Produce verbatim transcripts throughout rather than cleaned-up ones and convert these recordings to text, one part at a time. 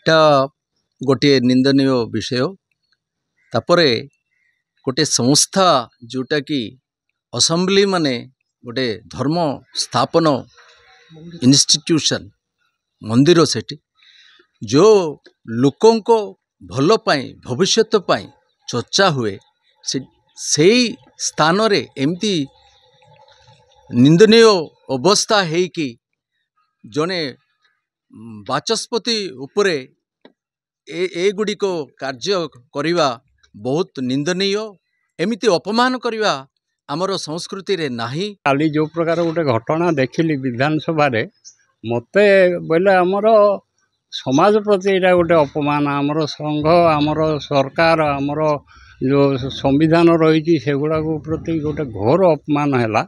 ଏଟା ଗୋଟିଏ ନିନ୍ଦନୀୟ ବିଷୟ। ତାପରେ ଗୋଟେ ସଂସ୍ଥା ଯେଉଁଟାକି ଅସେମ୍ବଲି, ମାନେ ଗୋଟେ ଧର୍ମ ସ୍ଥାପନ ଇନଷ୍ଟିଟ୍ୟୁସନ୍, ମନ୍ଦିର, ସେଠି ଯେଉଁ ଲୋକଙ୍କ ଭଲ ପାଇଁ, ଭବିଷ୍ୟତ ପାଇଁ ଚର୍ଚ୍ଚା ହୁଏ, ସେ ସେଇ ସ୍ଥାନରେ ଏମିତି ନିନ୍ଦନୀୟ ଅବସ୍ଥା ହେଇକି ଜଣେ ବାଚସ୍ପତି ଉପରେ ଏ ଏଗୁଡ଼ିକ କାର୍ଯ୍ୟ କରିବା ବହୁତ ନିନ୍ଦନୀୟ। ଏମିତି ଅପମାନ କରିବା ଆମର ସଂସ୍କୃତିରେ ନାହିଁ। କାଲି ଯେଉଁ ପ୍ରକାର ଗୋଟେ ଘଟଣା ଦେଖିଲି ବିଧାନସଭାରେ, ମୋତେ ବୋଇଲେ ଆମର ସମାଜ ପ୍ରତି ଏଇଟା ଗୋଟେ ଅପମାନ। ଆମର ସଂଘ, ଆମର ସରକାର, ଆମର ଯେଉଁ ସମ୍ବିଧାନ ରହିଛି, ସେଗୁଡ଼ାକ ପ୍ରତି ଗୋଟେ ଘୋର ଅପମାନ ହେଲା।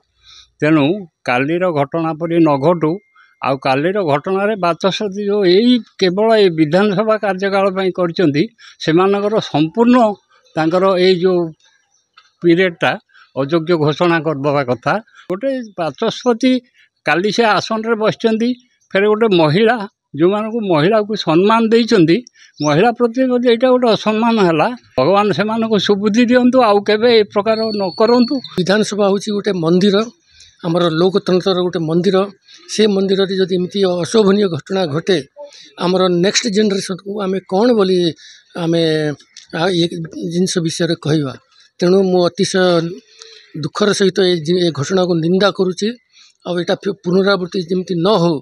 ତେଣୁ କାଲିର ଘଟଣା ପରି ନ ଘଟୁ। ଆଉ କାଲିର ଘଟଣାରେ ବାଚସ୍ପତି ଯେଉଁ ଏଇ କେବଳ ଏଇ ବିଧାନସଭା କାର୍ଯ୍ୟକାଳ ପାଇଁ କରିଛନ୍ତି, ସେମାନଙ୍କର ସମ୍ପୂର୍ଣ୍ଣ ତାଙ୍କର ଏଇ ଯେଉଁ ପିରିୟଡ଼ଟା ଅଯୋଗ୍ୟ ଘୋଷଣା କରିଦେବା କଥା। ଗୋଟେ ବାଚସ୍ପତି କାଲି ସେ ଆସନରେ ବସିଛନ୍ତି, ଫେରେ ଗୋଟେ ମହିଳା, ଯେଉଁମାନଙ୍କୁ ମହିଳାକୁ ସମ୍ମାନ ଦେଇଛନ୍ତି, ମହିଳା ପ୍ରତି ଯଦି ଏଇଟା ଗୋଟେ ଅସମ୍ମାନ ହେଲା, ଭଗବାନ ସେମାନଙ୍କୁ ସୁବୁଦ୍ଧି ଦିଅନ୍ତୁ, ଆଉ କେବେ ଏ ପ୍ରକାର ନ କରନ୍ତୁ। ବିଧାନସଭା ହେଉଛି ଗୋଟେ ମନ୍ଦିର, ଆମର ଲୋକତନ୍ତ୍ରର ଗୋଟେ ମନ୍ଦିର। ସେ ମନ୍ଦିରରେ ଯଦି ଏମିତି ଅଶୋଭନୀୟ ଘଟଣା ଘଟେ, ଆମର ନେକ୍ସଟ ଜେନେରେସନକୁ ଆମେ କ'ଣ ବୋଲି ଆମେ ଏ ଜିନିଷ ବିଷୟରେ କହିବା? ତେଣୁ ମୁଁ ଅତିଶୟ ଦୁଃଖର ସହିତ ଏ ଏ ଘଟଣାକୁ ନିନ୍ଦା କରୁଛି, ଆଉ ଏଇଟା ପୁନରାବୃତ୍ତି ଯେମିତି ନ ହଉ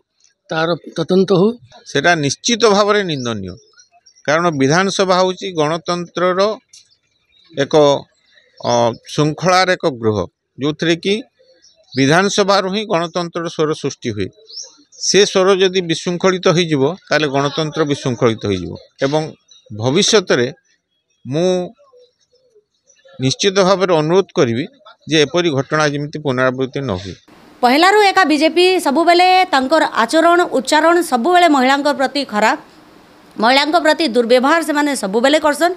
ତାର ତଦନ୍ତ ହଉ। ସେଇଟା ନିଶ୍ଚିତ ଭାବରେ ନିନ୍ଦନୀୟ, କାରଣ ବିଧାନସଭା ହେଉଛି ଗଣତନ୍ତ୍ରର ଏକ ଶୃଙ୍ଖଳାର ଏକ ଗୃହ, ଯେଉଁଥିରେ କି ବିଧାନସଭାରୁ ହିଁ ଗଣତନ୍ତ୍ରର ସ୍ୱର ସୃଷ୍ଟି ହୁଏ। ସେ ସ୍ୱର ଯଦି ବିଶୃଙ୍ଖଳିତ ହୋଇଯିବ, ତାହେଲେ ଗଣତନ୍ତ୍ର ବିଶୃଙ୍ଖଳିତ ହୋଇଯିବ। ଏବଂ ଭବିଷ୍ୟତରେ ମୁଁ ନିଶ୍ଚିତ ଭାବରେ ଅନୁରୋଧ କରିବି ଯେ ଏପରି ଘଟଣା ଯେମିତି ପୁନରାବୃତ୍ତି ନ ହୁଏ। ପହିଲାରୁ ଏକା ବିଜେପି ସବୁବେଳେ ତାଙ୍କର ଆଚରଣ, ଉଚ୍ଚାରଣ ସବୁବେଳେ ମହିଳାଙ୍କ ପ୍ରତି ଖରାପ, ମହିଳାଙ୍କ ପ୍ରତି ଦୁର୍ବ୍ୟବହାର ସେମାନେ ସବୁବେଳେ କରସନ୍।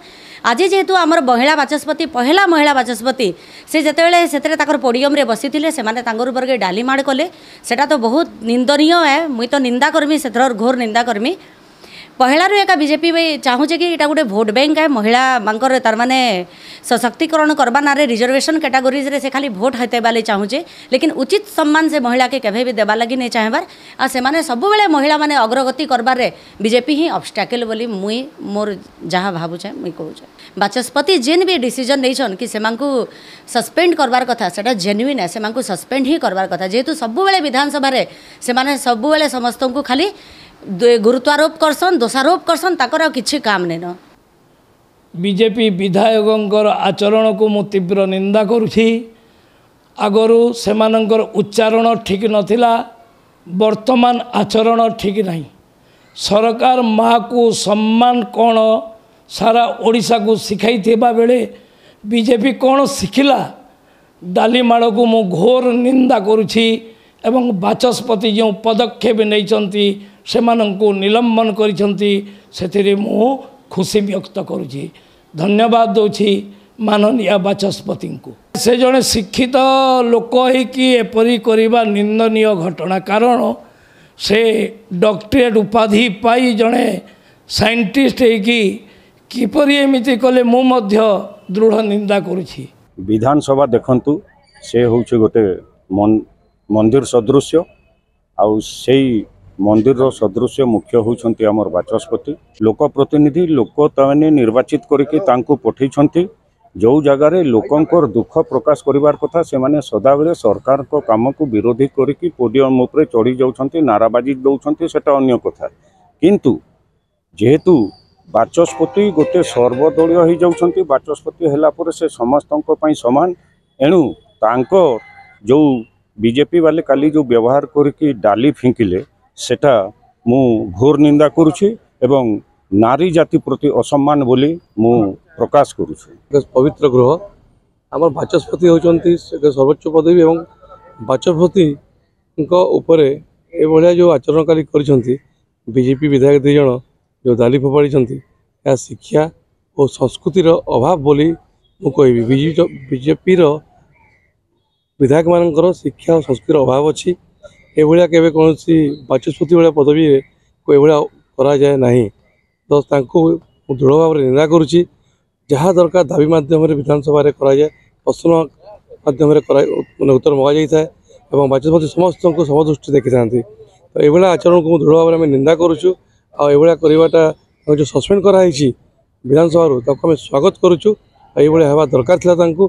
ଆଜି ଯେହେତୁ ଆମର ମହିଳା ବାଚସ୍ପତି, ପହିଲା ମହିଳା ବାଚସ୍ପତି, ସେ ଯେତେବେଳେ ସେଥିରେ ତାଙ୍କର ପୋଡ଼ିୟମରେ ବସିଥିଲେ, ସେମାନେ ତାଙ୍କର ଉପରେ ଡାଲି ମାଡ଼ କଲେ, ସେଟା ତ ବହୁତ ନିନ୍ଦନୀୟ ଏ। ମୁଇଁ ତ ନିନ୍ଦା କରମି, ସେଥିର ଘୋର ନିନ୍ଦା କରମି। ପହିଲାରୁ ଏକା ବିଜେପି ଚାହୁଁଛେ କି ଏଇଟା ଗୋଟେ ଭୋଟ ବ୍ୟାଙ୍କ ଏ। ମହିଳାମାନଙ୍କର ତାରମାନେ ସଶକ୍ତିକରଣ କରବା ନାଁରେ ରିଜର୍ଭେସନ୍ କ୍ୟାଟାଗୋରିଜରେ ସେ ଖାଲି ଭୋଟ ହାତେଇବା ଲାଗି ଚାହୁଁଛେ, ଲେକିନ୍ ଉଚିତ ସମ୍ମାନ ସେ ମହିଳାକେ କେବେ ବି ଦେବା ଲାଗି ନେଇ ଚାହେଁବାର। ଆଉ ସେମାନେ ସବୁବେଳେ ମହିଳାମାନେ ଅଗ୍ରଗତି କରବାରେ ବିଜେପି ହିଁ ଅବଷ୍ଟାକେଲ୍ ବୋଲି ମୁଇଁ ମୋର ଯାହା ଭାବୁଛେ ମୁଇଁ କହୁଛେ। ବାଚସ୍ପତି ଯେନ୍ ବି ଡିସିଜନ୍ ନେଇଛନ୍ କି ସେମାନଙ୍କୁ ସସ୍ପେଣ୍ଡ କରବାର କଥା, ସେଟା ଜେନ୍ୟୁଇନ୍, ସେମାନଙ୍କୁ ସସ୍ପେଣ୍ଡ ହିଁ କରବାର କଥା, ଯେହେତୁ ସବୁବେଳେ ବିଧାନସଭାରେ ସେମାନେ ସବୁବେଳେ ସମସ୍ତଙ୍କୁ ଖାଲି ଗୁରୁତ୍ୱାରୋପ କରସନ୍, ଦୋଷାରୋପ କରସନ୍, ତାଙ୍କର ଆଉ କିଛି କାମ ନେଇନ। ବିଜେପି ବିଧାୟକଙ୍କର ଆଚରଣକୁ ମୁଁ ତୀବ୍ର ନିନ୍ଦା କରୁଛି। ଆଗରୁ ସେମାନଙ୍କର ଉଚ୍ଚାରଣ ଠିକ୍ ନଥିଲା, ବର୍ତ୍ତମାନ ଆଚରଣ ଠିକ୍ ନାହିଁ। ସରକାର ମାଆକୁ ସମ୍ମାନ କ'ଣ ସାରା ଓଡ଼ିଶାକୁ ଶିଖାଇଥିବା ବେଳେ ବିଜେପି କ'ଣ ଶିଖିଲା? ଡାଲି ମାଡ଼କୁ ମୁଁ ଘୋର ନିନ୍ଦା କରୁଛି ଏବଂ ବାଚସ୍ପତି ଯେଉଁ ପଦକ୍ଷେପ ନେଇଛନ୍ତି, ସେମାନଙ୍କୁ ନିଲମ୍ବନ କରିଛନ୍ତି, ସେଥିରେ ମୁଁ ଖୁସି ବ୍ୟକ୍ତ କରୁଛି। ଧନ୍ୟବାଦ ଦେଉଛି ମାନନୀୟ ବାଚସ୍ପତିଙ୍କୁ। ସେ ଜଣେ ଶିକ୍ଷିତ ଲୋକ ହେଇକି ଏପରି କରିବା ନିନ୍ଦନୀୟ ଘଟଣା, କାରଣ ସେ ଡକ୍ଟରେଟ୍ ଉପାଧି ପାଇ ଜଣେ ସାଇଣ୍ଟିଷ୍ଟ ହେଇକି କିପରି ଏମିତି କଲେ, ମୁଁ ମଧ୍ୟ ଦୃଢ଼ ନିନ୍ଦା କରୁଛି। ବିଧାନସଭା ଦେଖନ୍ତୁ, ସେ ହେଉଛି ଗୋଟେ ମନ୍ଦିର ସଦୃଶ୍ୟ, ଆଉ ସେଇ ମନ୍ଦିରର ସଦୃଶ୍ୟ ମୁଖ୍ୟ ହେଉଛନ୍ତି ଆମର ବାଚସ୍ପତି। ଲୋକ ପ୍ରତିନିଧି, ଲୋକ ତାମାନେ ନିର୍ବାଚିତ କରିକି ତାଙ୍କୁ ପଠେଇଛନ୍ତି। ଯେଉଁ ଜାଗାରେ ଲୋକଙ୍କର ଦୁଃଖ ପ୍ରକାଶ କରିବାର କଥା, ସେମାନେ ସଦାବେଳେ ସରକାରଙ୍କ କାମକୁ ବିରୋଧୀ କରିକି ପୋଡ଼ିୟମ ଉପରେ ଚଢ଼ି ଯାଉଛନ୍ତି, ନାରାବାଜି ଦେଉଛନ୍ତି, ସେଟା ଅନ୍ୟ କଥା। କିନ୍ତୁ ଯେହେତୁ ବାଚସ୍ପତି ଗୋଟେ ସର୍ବଦଳୀୟ ହେଇଯାଉଛନ୍ତି, ବାଚସ୍ପତି ହେଲା ପରେ ସେ ସମସ୍ତଙ୍କ ପାଇଁ ସମାନ। ଏଣୁ ତାଙ୍କ ଯେଉଁ ବିଜେପି ବାଲେ କାଲି ଯେଉଁ ବ୍ୟବହାର କରିକି ଡାଲି ଫିଙ୍କିଲେ, ସେଟା ମୁଁ ଘୋର ନିନ୍ଦା କରୁଛି ଏବଂ ନାରୀ ଜାତି ପ୍ରତି ଅସମ୍ମାନ ବୋଲି ମୁଁ ପ୍ରକାଶ କରୁଛି। ପବିତ୍ର ଗୃହ ଆମର, ବାଚସ୍ପତି ହେଉଛନ୍ତି ସର୍ବୋଚ୍ଚ ପଦବୀ, ଏବଂ ବାଚସ୍ପତିଙ୍କ ଉପରେ ଏଭଳିଆ ଯେଉଁ ଆଚରଣ କାଲି କରିଛନ୍ତି ବିଜେପି ବିଧାୟକ ଦୁଇ ଜଣ, ଯେଉଁ ଡାଲି ଫୋପାଡ଼ିଛନ୍ତି, ଏହା ଶିକ୍ଷା ଓ ସଂସ୍କୃତିର ଅଭାବ ବୋଲି ମୁଁ କହିବି। ବିଜେପିର ବିଧାୟକମାନଙ୍କର ଶିକ୍ଷା ଓ ସଂସ୍କୃତିର ଅଭାବ ଅଛି। ଏଭଳିଆ କେବେ କୌଣସି ବାଚସ୍ପତି ଭଳିଆ ପଦବୀରେ ଏଭଳିଆ କରାଯାଏ ନାହିଁ। ତ ତାଙ୍କୁ ମୁଁ ଦୃଢ଼ ଭାବରେ ନିନ୍ଦା କରୁଛି। ଯାହା ଦରକାର ଦାବି ମାଧ୍ୟମରେ ବିଧାନସଭାରେ କରାଯାଏ, ପ୍ରଶ୍ନ ମାଧ୍ୟମରେ କରା ମାନେ ଉତ୍ତର ମଗାଯାଇଥାଏ ଏବଂ ବାଚସ୍ପତି ସମସ୍ତଙ୍କୁ ସମଦୃଷ୍ଟି ଦେଖିଥାନ୍ତି। ତ ଏଇଭଳିଆ ଆଚରଣକୁ ମୁଁ ଦୃଢ଼ ଭାବରେ ଆମେ ନିନ୍ଦା କରୁଛୁ। ଆଉ ଏଇଭଳିଆ କରିବାଟା, ଯେଉଁ ସସ୍ପେଣ୍ଡ କରାହେଇଛି ବିଧାନସଭାରୁ, ତାକୁ ଆମେ ସ୍ୱାଗତ କରୁଛୁ। ଆଉ ଏଇଭଳିଆ ହେବା ଦରକାର ଥିଲା ତାଙ୍କୁ।